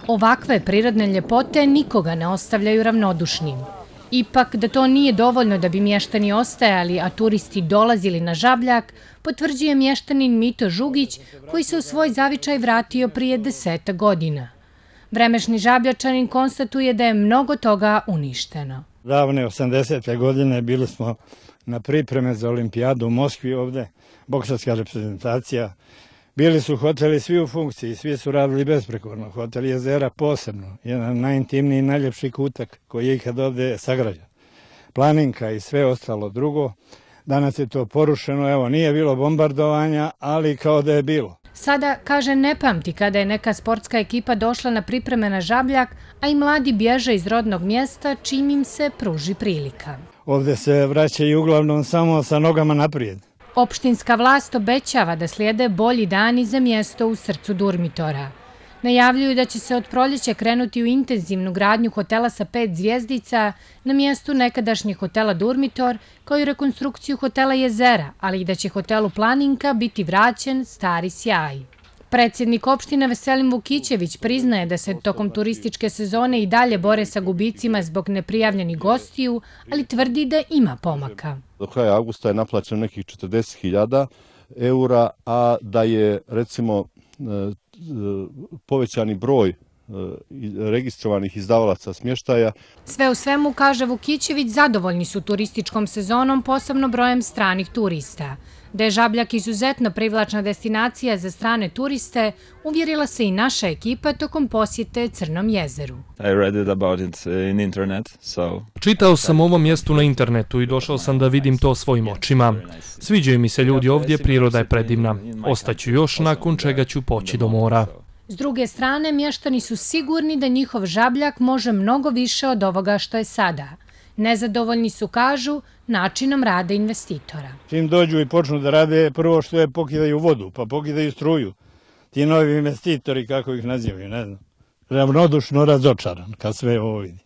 Ovakve prirodne ljepote nikoga ne ostavljaju ravnodušnim. Ipak, da to nije dovoljno da bi mještani ostajali, a turisti dolazili na Žabljak, potvrđuje mještanin Mito Žugić, koji se u svoj zavičaj vratio prije 10 godina. Vremešni Žabljačanin konstatuje da je mnogo toga uništeno. Davne 80. godine bili smo na pripreme za olimpijadu u Moskvi ovde, boksačka reprezentacija. Bili su hoteli svi u funkciji, svi su radili besprekorno. Hotel Jezera posebno, jedan najintimniji i najljepši kutak koji je ikad ovde sagrađen. Planinka i sve ostalo drugo. Danas je to porušeno, evo nije bilo bombardovanja, ali kao da je bilo. Sada, kaže, ne pamti kada je neka sportska ekipa došla na pripreme na Žabljak, a i mladi bježe iz rodnog mjesta čim im se pruži prilika. Ovde se vraćaju uglavnom samo sa nogama naprijed. Opštinska vlast obećava da slijede bolji dani za mjesto u srcu Durmitora. Najavljuju da će se od proljeća krenuti u intenzivnu gradnju hotela sa 5 zvjezdica na mjestu nekadašnjeg hotela Durmitor, kao i rekonstrukciju hotela Jezera, ali i da će hotelu Planinka biti vraćen stari sjaj. Predsjednik opštine Veselin Vukićević priznaje da se tokom turističke sezone i dalje bore sa gubicima zbog neprijavljenih gostiju, ali tvrdi da ima pomaka. Do kraja avgusta je naplaćeno nekih 40.000 eura, a da je recimo povećani broj registrovanih izdavalaca smještaja. Sve u svemu, kaže Vukićević, zadovoljni su turističkom sezonom, posebno brojem stranih turista. Da je Žabljak izuzetno privlačna destinacija za strane turiste, uvjerila se i naša ekipa tokom posjete Crnom jezeru. Čitao sam o ovom mjestu na internetu i došao sam da vidim to svojim očima. Sviđaju mi se ljudi ovdje, priroda je predivna. Ostaću još, nakon čega ću poći do mora. S druge strane, mještani su sigurni da njihov Žabljak može mnogo više od ovoga što je sada. Nezadovoljni su, kažu, načinom rada investitora. Čim dođu i počnu da rade, prvo što je pokidaju vodu, pa pokidaju struju. Ti novi investitori, kako ih nazivaju, ne znam. Ravnodušno razočaran kad sve ovo vidi.